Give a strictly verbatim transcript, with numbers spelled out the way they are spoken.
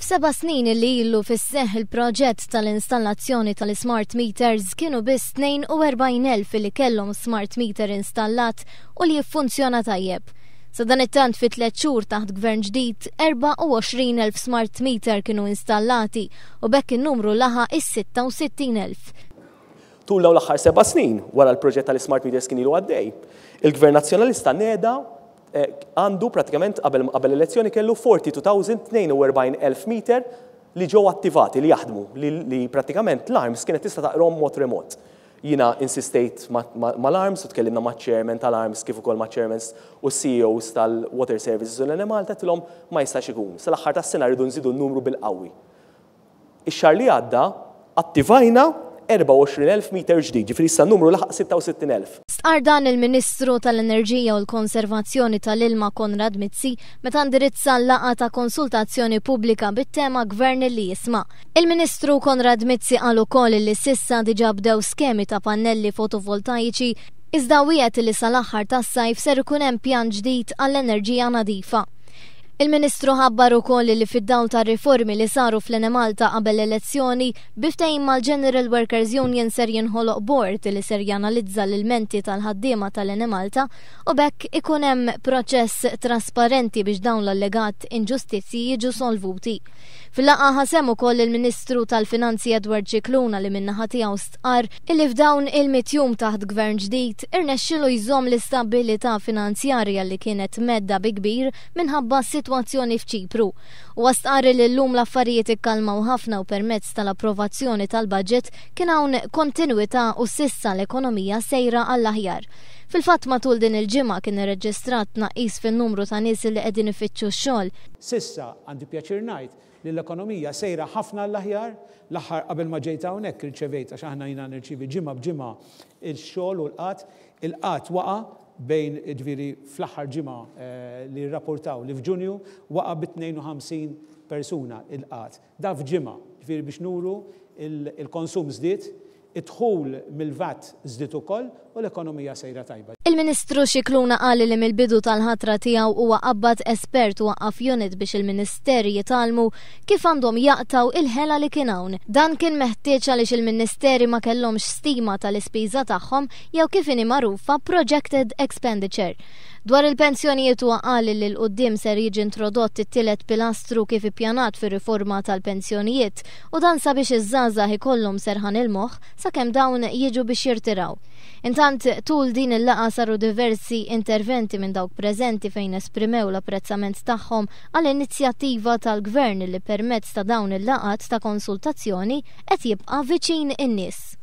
F'seba' snin li ilu fis-seħ il-proġett tal-installazzjoni tal-smart meters, kienu biss tnejn u erbgħin elf li kellhom smart meter installat u li jiffunzjona tajjeb. Sadanittant, fi tliet xhur taħt gvern ġdid, erbgħa u għoxrin elf smart meter kienu installati u b'hekk in-numru laħaq is-sitta u sittin elf. Tul dawn l-aħħar seba' snin, wara l-proġett tal-smart meters kien ilu għaddej, il-Gvern Nazzjonalista neda eh, għandu pratikament qabel qabel elezzjoni kellu erbgħa u erbgħin elf meter li ġew attivati, li jaħdmu, li, li pratikament l-ARMS kienet tista' taqrom mod remot. Jiena insistejt mal-ARMS u tkellimna ma' chairman tal-ARMS kif ukoll ma' chairmans u C E Os tal-Water Services u l-Enemalta, għedtilhom ma jistax ikun. Sal-aħħar tas-sena rridu nżidu n-numru bil-qawwi. Ix-xahar li għadda attivajna erbgħa u għoxrin elf meter ġdid, ġifieri issa numru laħaq sitta u sittin elf. Stqar dan il-Ministru tal-Enerġija u l-Konservazzjoni tal-Ilma Konrad Mizzi meta indirizza l-laqgħa ta' konsultazzjoni pubblika bit-tema "Gvern li jisma'". Il-Ministru Konrad Mizzi qal ukoll li s'issa diġà bdew skemi ta' pannelli fotovoltaiċi, iżda wiegħed li sal-aħħar tas-sajf ser ikun hemm pjan ġdid għall-enerġija nadifa. Il-Ministru ħabbar ukoll li fid-dawl ta' riformi li saru fl-Enemalta qabel l-elezzjoni, bi ftehim mal-General Workers Union, ser jinħoloq board li ser janalizza l-ilmenti tal-ħaddiema tal-Enemalta u b'hekk ikun hemm proċess trasparenti biex dawn l-allegat inġustizzji jiġu solvuti. Fil-laqgħa ħa sehem ukoll il-Ministru tal-Finanzi Edward Scicluna, li min-naħa tiegħu stqar illi f'dawn il-mitt jum taħt gvern ġdid irnexxielu jżomm l-istabilità finanzjarja li kienet mhedda bi kbir minħabba sitwazzjoni f'Ċipru. U stqarr li llum l-affarijiet ikkalmaw ħafna u permezz tal-approvazzjoni tal-budget kien hawn kontinuità u s'issa l-ekonomija sejra għall-aħjar. Fil-fatt, matul din il-ġimgħa kien irreġistrat tnaqqis fin-numru ta' nies li qegħdin ifittxu x-xogħol. S'issa għandi pjaċir ngħid li l-ekonomija sejra ħafna l-aħjar. L-aħħar qabel ma ġejt hawnhekk irċevejt, għax aħna jiena nirċivi ġimgħa b'ġimgħa il-xogħol u l-qgħad, il-qgħad waqa' bejn, ġifieri fl-aħħar ġimgħa eh, li rrapportaw li f'Ġunju waqa' bi tnejn u ħamsin persuna il-qgħad. Da f'ġimgħa, ġifieri biex nuru il-konsum żdied, id-dħul mill-VAT żdied ukoll u l-ekonomija sejra tajba. Il-Ministru Scicluna qal li mill-bidu tal-ħatra tiegħu huwa qabbad espert u waqqaf unit biex il-Ministeri jitgħallmu kif għandhom jaqtaw il-ħela li kien hawn. Dan kien meħtieġ għaliex il-Ministeri ma kellhomx stima tal-ispiża tagħhom jew kif inhi magħrufa projected expenditure. Dwar il-pensjonijiet, huwa qal li 'l quddiem ser jiġi introdott it-tielet pilastru kif ippjanat fir-riforma tal-pensjonijiet, u dan sabiex iż-żgħażagħ ikollhom serħan il-moħħ sakemm dawn jiġu biex jirtiraw. Intant, tul din il-laqgħa saru diversi interventi minn dawk preżenti fejn esprimew l-apprezzament tagħhom għall-inizjattiva tal-gvern li permezz ta' dawn il-laqgħat ta' konsultazzjoni qed jibqa' viċin in-nies.